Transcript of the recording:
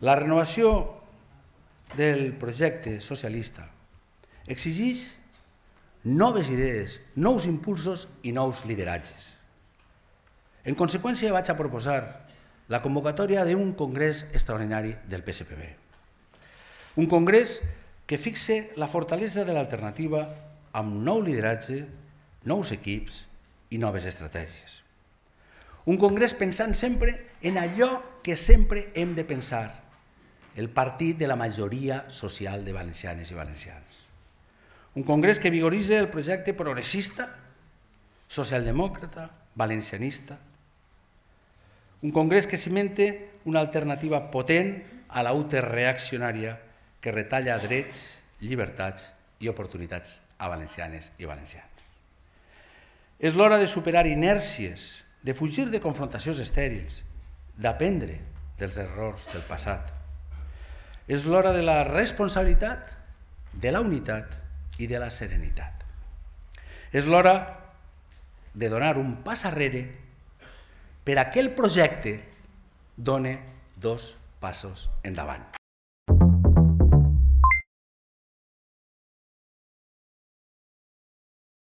La renovació del projecte socialista exigeix noves idees, nous impulsos i nous lideratges. En conseqüència, vaig a proposar la convocatòria d'un congrés extraordinari del PSPB. Un congrés que fixe la fortalesa de l'alternativa amb nou lideratge, nous equips i noves estratègies. Un congrés pensant sempre en allò que sempre hem de pensar, el partit de la majoria social de valencianes i valencians. Un congrés que vigoritza el projecte progressista, socialdemòcrata, valencianista. Un congrés que cimente una alternativa potent a la UTE reaccionària que retalla drets, llibertats i oportunitats a valencianes i valencians. És l'hora de superar inèrcies, de fugir de confrontacions estèrils, d'aprendre dels errors del passat. És l'hora de la responsabilitat, de la unitat i de la serenitat. És l'hora de donar un pas arrere per a que el projecte doni 2 passos endavant.